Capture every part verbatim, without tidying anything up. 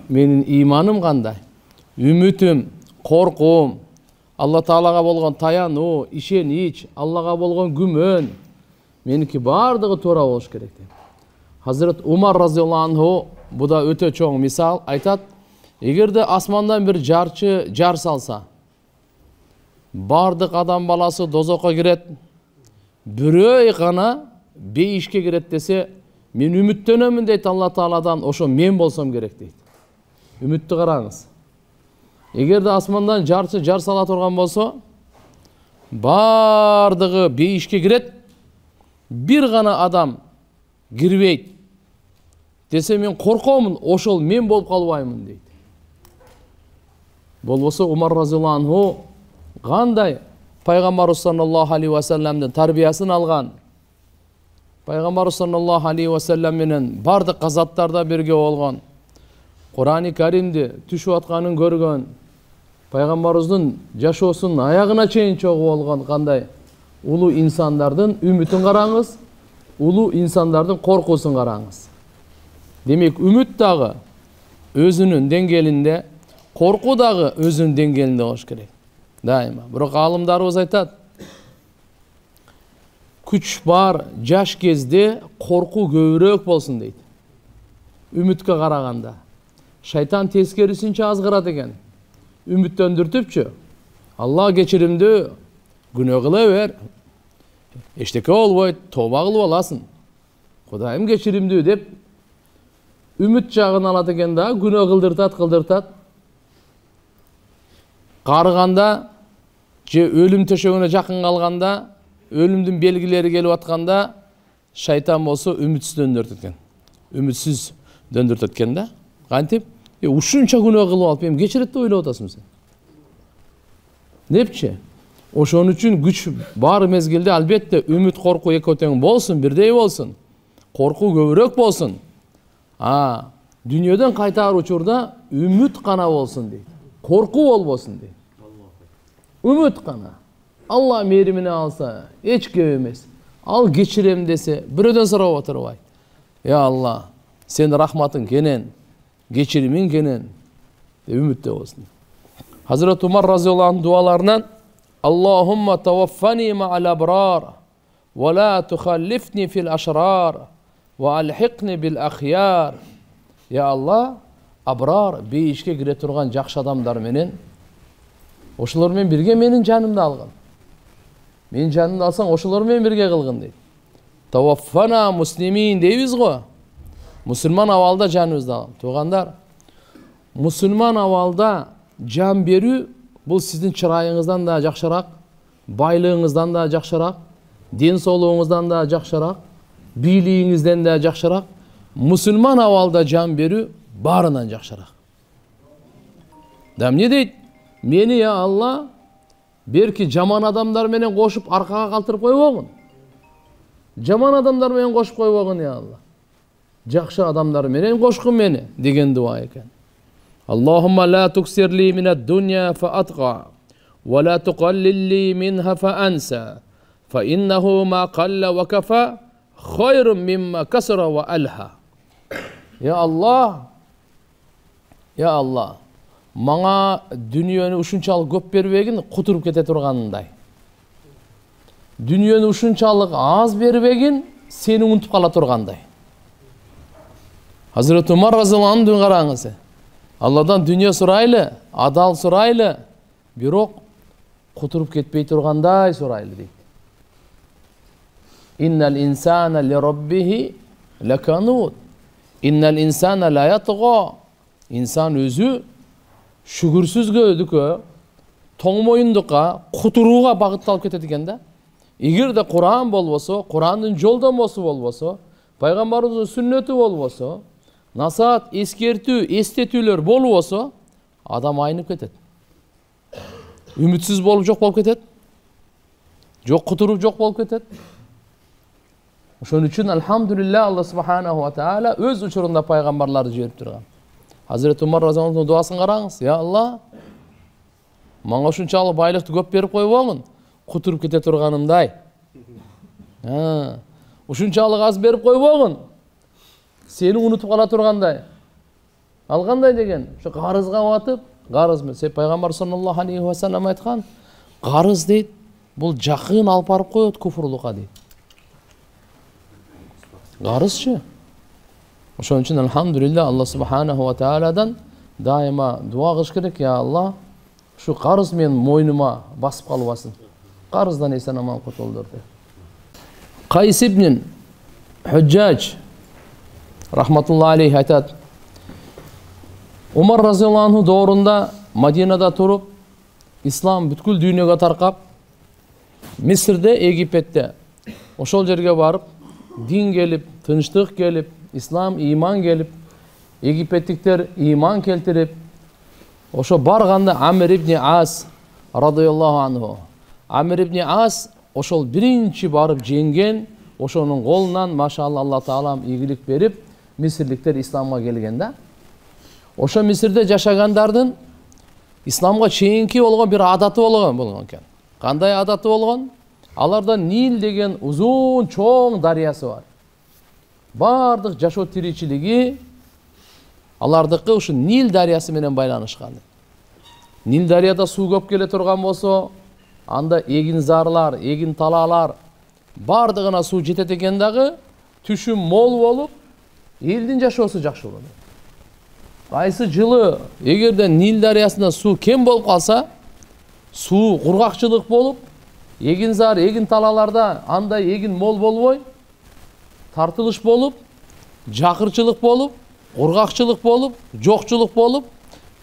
менин иманым кандай, үмүтүм, коркуум, Алла Таалага болгон таянуу, ишенич, Аллага болгон күмөн меники бардыгы туура болуш керек дейт. Hazret Umar разияллаху анху бу да өтө чоң мисал айтат, эгерде асмандан бир жарчы жар салса, бардык адам баласы дозокко кирет, бирөө гана бейишке кирет десе, мен үмүттөнөмүн дейт Алла Тааладан, ошо мен болсом керек дейт. Үмүттү караңыз. Эгерде асмандан жарчы жар сала турган болсо, бардыгы бейишке кирет, бир гана адам кирбейт десе, мен коркомун, ошол мен болуп калбаймын дейт. Болбосо Умар разияллаху анху кандай пайгамбарыбыз саллаллаху алейхи ва салламдын тарбиясын алган, пайгамбарыбыз саллаллаху алейхи ва саллам менен бардык казаттарда бирге болгон, Кур'ани Каримди түшүп атканын көргөн, пайгамбарыбыздын жашоосунун аягына чейин чогуу болгон кандай улуу инсандардын үмүтүн караңыз, улуу инсандардын коркуусун караңыз. Демек, үмүт дагы өзүнүн деңгээлинде, коркуу дагы өзүнүн деңгээлинде болуш керек. Дайыма. Бирок алымдарыбыз айтат, күч бар жаш кезде коркуу көбүрөөк болсун дейт. Үмүткө караганда. Шайтан тескерисинче азгырат экен. Үмүттөндүртүпчү. Алла кечиримдүү, күнөө кыла бер. Эчтеке болбойт, тооба кылып аласың. Кудайым кечиримдүү деп үмүт жагын алат экен да, күнөө кылдыртат, кылдыртат. Карыганда, же өлүм төшөгүнө жакын калганда, өлүмдүн белгилери келип атканда, шайтан болсо үмүтсүз дөндүртөт экен. Үмүтсүз дөндүртөт экен да. Кантип? Е, ушунча күнөө кылып алып, эми кечирет деп ойлоп атасың сен. Непчи? Ошон үчүн күч бар мезгилде албетте үмүт, коркуу экөө тең болсун, бирдей болсун. Коркуу көбүрөөк болсун. А, дүйнөдөн кайтаар учурда үмүт гана болсун дейт. Коркуу болбосун дейт. Үмүт гана. Алла мээримине алса, эч көп эмес. Ал кечирем десе, бирөөдөн сурап отурбайт. Я Алла, сен рахматың кенен, кечиримиң кенен, деп үмүттө болсун. Hazret Umar разияллаху анху дуаларынан Аллахумма таваффани ма'ал абрар, ва ла тухаллифни фил ашрар, ва алхиқни бил ахяр. Я Алла, абрар, бейишке кире турган жакшы адамдар менен, ошолор менен бирге менин жанымды алгын. Менин жанымды алсаң, ошолор менен бирге кылгын дейт. Таваффана муслимин дейбиз го. Мусулман абалда жаныбызды алгын. Туугандар, мусулман абалда жан берүү бул сиздин чырайыңыздан да жакшыраак, байлыгыңыздан да жакшыраак, ден соолугуңуздан да жакшыраак, бийлигиңизден да жакшыраак. Мусулман абалда жан берүү баарынан жакшыраак. Да эмне дейт? Мени, я Алла, берки жаман адамдар менен кошуп аркага калтырып койбогун. Жаман адамдар менен кошуп койбогун, я Алла. Жакшы адамдар менен кошкун мени деген дуа экен. Аллахумма ла туксирли минад дунья фа атqa, ва ла туқаллилли минха фа анса, фа иннаху ма қалла ва кафа хайрун мимма касра ва алха. Я Аллах, я Аллах, мага дүниөнү ушунчалык көп бербегин, кутуруп кете турганындай. Дүниөнү ушунчалык аз бербегин, сени унутуп кала тургандай. Hazret Umar разияллаху анху караңыз. Алладан дүние сурайлы, адал сурайлы, бирок кутуруп кетпей тургандай сурайлы дейт. Иннал инсана ли раббихи лаканут. Иннал инсана ла ятга. Инсан өзү шүгүрсүзгөдүккө, тоңмоюндукка, кутурууга багытталып кетет экен да. Эгерде Куран болбосо, Курандын жолдомосу болбосо, пайгамбарыбыздын сүннөтү болбосо, насаат, эскертүү, эстетүүлөр болбосо, адам айнып кетет. Үмүтсүз болуп жок болуп кетет. Жок кутуруп жок болуп кетет. Ошон үчүн алхамдулилла Алла субханаху ва таала өз учурунда пайгамбарларды жиберип турган. Hazret Umar разияллаху анху дуасын караңыз. Я Алла, мага ушунчалык байлыкты көп берип койбогун, кутуруп кете турганымдай. Ha, ушунчалык аз берип койбогун, сени унутуп кала тургандай. Ал кандай деген? Ошо карызга батып, карыз мен пайгамбар саллаллаху алейхи ва саллям айткан, карыз дейт, бул жакын алып барып коет куфурлукка дейт. Карызчы. Ошон үчүн алхамдулилlah Аллах субханаху ва тааладан дайыма дуа кылыш керек. Я Аллах, ушу карыз мен мойнума басып калбасын. Карыздан эсен аман кутулдур деп. Кайс ибн Худжаж рахматуллахи алейхи айтат. Умар разияллаху анху доорунда Мадинада туруп, ислам бүткүл дүйнөгө таркап, Мисирде, Египетте ошол жерге барып, дин келип, тынчтык келип, ислам, иман келип, египеттиктер иман келтирип, ошо барганда Амир ибн Ас радияллаху анху. Амир ибн Ас ошол биринчи барып жеңген, ошонун колунан машалла Аллах таалам ийгилик берип, мисирликтер исламга келген да. Ошо Мисирде жашагандардын исламга чейинки болгон бир адаты болгон болгон экен. Кандай адаты болгон? Аларда Нил деген узун чоң дарыясы бар. Бардык жашоо тиричилиги алардыкы ушу Нил дарыясы менен байланышкан. Нил дарыяда суу көп келе турган болсо, анда эгин зарлар, эгин талаалар бардыгына суу жетет экен дагы, түшүм мол болуп, элдин жашоосу жакшы болот. Кайсы жылы эгерде Нил дарыясында суу кем болуп калса, суу кургакчылык болуп, эгин зар, эгин талааларда андай эгин мол болбой, тартылыш болуп, жакырчылык болуп, кургакчылык болуп, жокчулук болуп,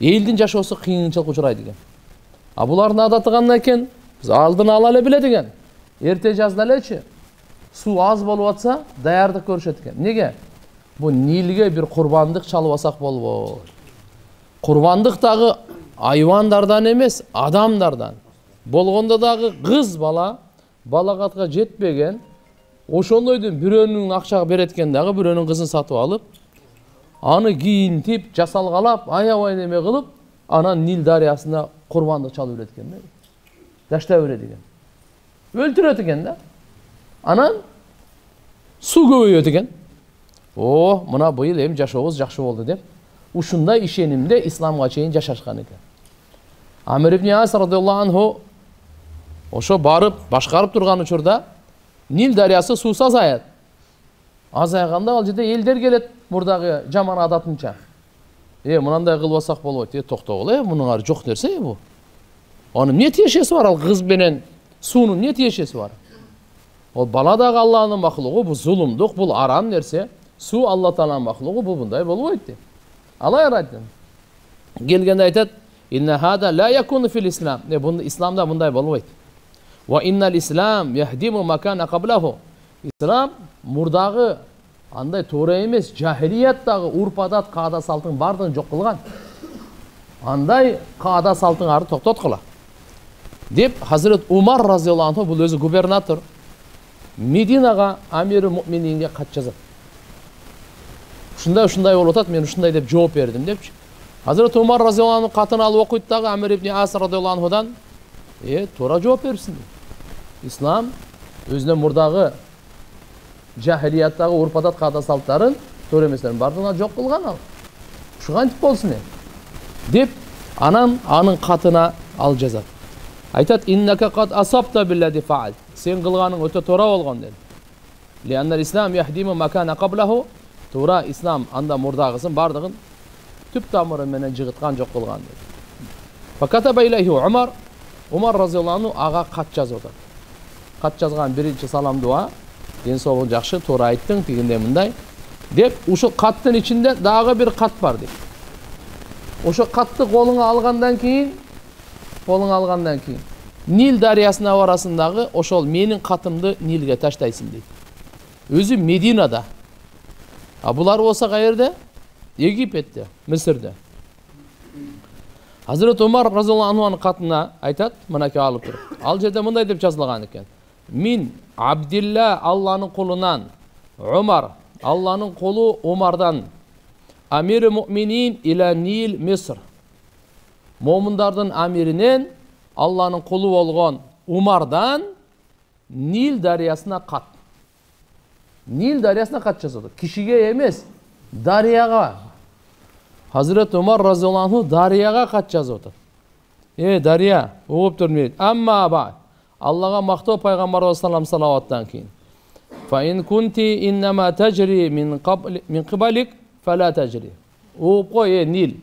элдин жашоосу кыйынчылыкка учурайт экен. А булардын адаты кандай экен? Биз алдын ала эле билет экен. Эрте жазда элечи суу аз болуп атса, даярдык көрүшөт экен. Неге? Бу Нилге бир курбандык чалбасак болбойт. Курбандык дагы айвандардан эмес, адамдардан. Болгондо дагы кыз бала балагатка жетпеген, ошондойдун бирөөнүн акча берет экен дагы, бирөөнүн кызын сатып алып, аны кийинтип, жасалгалап, аябай неме кылып, анан Нил дарыясына курбандык чалып берет экен да. Таштап берет экен. Өлтүрөт экен да. Анан суу көбөйөт экен. О, мына быйыл эми жашообуз жакшы болду деп, ушундай ишенимде исламга чейин жашашкан экен. Амир ибн Ас радияллаху анху ошо барып башкарып турган учурда Нил дарыясы суусу азаят. Азайганда ал жерде элдер келет, мурдагы жаман адатынча. Э, мынандай кылбасак болбойт. Э, токтогула, э, мунун ары жок нерсе бу. Анын эмне тиешеси бар ал кыз менен суунун эмне тиешеси бар? Ол бала дагы Аллахтын махлугу, бу зулумдук, бул арам нерсе. Суу Алла тааланын махлугу, бу мындай болбойт деп. Алай айтты. Келгенде айтат: "Инна хада ла якуну фил ислам." Не, бу исламда мындай болбойт. Ва иннал ислам яхдиму макана каблаху. Ислам мурдагы андай туура эмес, жахилияттагы урп-адат, каада салтын бардыгын жок кылган. Андай каада салтын ары токтоткула. Деп Хазрет Умар разияллаху анху, бул өзү губернатор, Мединага Амир муъмининге кат жазат. Ушундай ушундай болуп атат, мен ушундай деп жооп бердим депчи. Хазрет Умар разияллаху анху катын алып окуйт дагы Амир ибн Ас радияллаху анхудан, "Э, туура жооп берипсиң. Ислам өзүнүн мурдагы жахилияттагы урп-адат, каада салттарын, туура эместерин бардыгына жок кылган ал. Ушу кантип болсун э?" деп анан анын катына ал жазат. Айтат: "Иннака кад асабта биллади фаал." Сен кылганың өтө туура болгон dedi. "Лианнал ислам яхдиму макана каблаху." Туура ислам анда мурдагысын бардыгын түп тамыры менен жыгыткан, жок кылган dedi. Факатаба илайхи Умар, Умар разияллаху анху ага кат жазып атат. Кат жазган биринчи салам дуа: "Ден соолугуң жакшы, туура айттың, тигиндей мындай" деп, ушул каттын ичинде дагы бир кат бар дейт. Ошо катты колуңа алгандан кийин, колуңа алгандан кийин Нил дарыясына барасындагы ошол менин катымды Нилге таштайсың дейт. Өзү Мединада. А булар болсо каерде? Египетте, Мисирде. Хазрет Умар разияллаху анхунун катына айтат, мынакей алып туруп. Ал жерде мындай деп жазылган экен: "Мин Абдилла, Алланын кулунан, Умар, Алланын кулу Умардан, Амир муъминин иля Нил Миср." Момундардын амиринен, Алланын кулу болгон Умардан Нил дарыясына кат. Нил дарыясына кат жазылды. Кишиге эмес, дарыяга. Hazreti Umar radhiyallahu anhu Daryaga кат жазып атат. Э, Дария, угуп тур дейт. Амма ба. Аллага мактоо пайгамбарыбыз саллаллаху салаваттан кийин. Fa in kunti innama tajri min qabl min qibalik fala tajri. Угуп кой, э, Нил.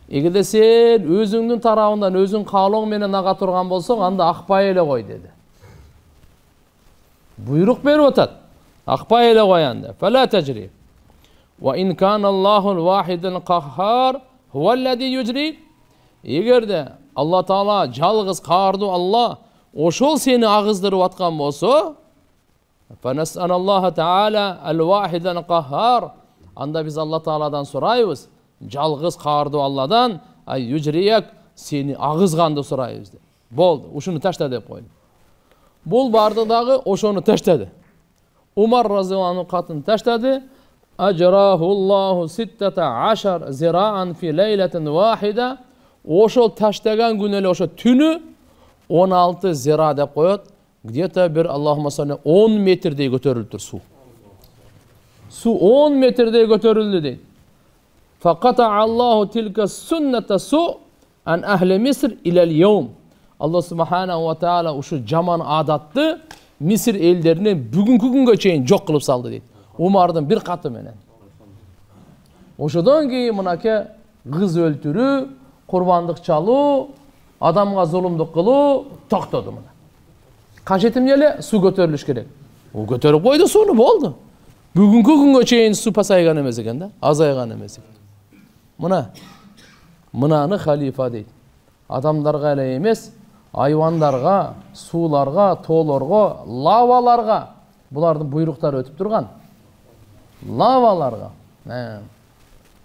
Эгерде сен өзүңдүн тарабыңдан өзүң каалооң менен ага турган болсоң, анда акпай эле кой деди. Буйрук берип атат. Акпай эле кой анда. Fala tajri. Wa in kana Allahu al-wahid al-qahhar huwa alladhi yujri. Эгерде Алла Таала жалгыз каардуу Алла ошол сени агыздырып аткан болсо, fa nas'alalloha ta'ala al-wahid al-qahhar. Анда биз Алла Тааладан сурайбыз, жалгыз каардуу Алладан, ай южрияк сени агызганды сурайбыз деп. Болду, ушуну ташта деп койду. Бул барды дагы ошону таштады. Умар разыяллаху анху катын таштады. Ажрахуллаху ситтата ашар зираан фи лейлатин вахида. Ошол таштаган күнү эле ошо түнү он алты зира деп коет. Где-то бир Аллахума салли он метрдей көтөрүлдү суу. Суу он метрдей көтөрүлдү дейт. Факата Аллаху тилка сунната су ан ахли Миср илал йаум. Алла субханаху ва таала ушу жаман адатты Мисир элдеринен бүгүнкү күнгө чейин жок кылып салды дейт. Умардын бир каты менен. Ошодон кийин мынакей кыз өлтүрүү, курбандык чалуу, адамга зулумдук кылуу токтоду мына. Кажет эмне эле? Суу көтөрүлүш керек. Ол көтөрүп койду сууну, болду. Бүгүнкү күнгө чейин суу пасайган эмес экен да, азайган эмес экен. Мына мынаны халифа дейт. Адамдарга эле эмес, айвандарга, сууларга, тоолорго, лаваларга булардын буйруктары өтүп турган. Лаваларга,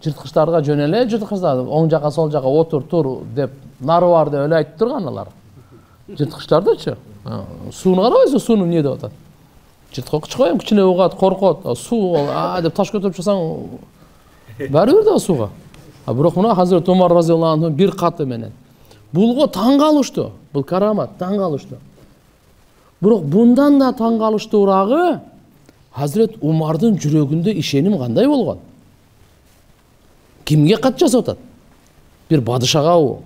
жырткычтарга жөн эле жырткычтар, оң жака сол жака отур тур деп, нары бар деп эле айтып турган алар. Жырткычтардычы? Сууну карабайсызбы, сууну эмне деп атат? Жырткыч коем, кичине угат, коркот, суу а деп таш көтөрүп чыксаң баары бир да сууга. А бирок мына Hazreti Umar разыяллаху анху бир каты менен. Булго таң калыштуу. Бул карамат, таң калыштуу. Бирок bundan да таң калыштуурагы Hazreti Умардын жүрөгүндө ишеним кандай болгон? Кимге кат жазып атат? Бир падышагабы,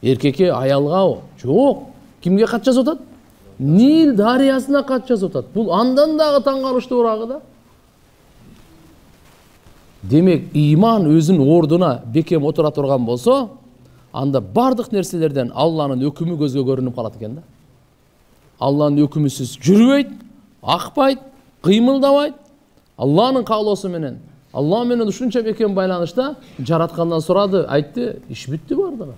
эркекке, аялгабы? Жок. Кимге кат жазып атат? Нил дарыясына кат жазып атат. Бул андан дагы таң калыштуурагы да. Демек, иман өзүнүн ордуна бекем отура турган болсо, анда бардык нерселерден Алланын өкүмү көзгө көрүнүп калат экен да. Алланын өкүмүсүз жүрбөйт, акпайт, кыймылдабайт. Алланын каалоосу менен, Алла менен ушунча бекем байланышта жараткандан сурады, айтты, иш бүттү бардыгы.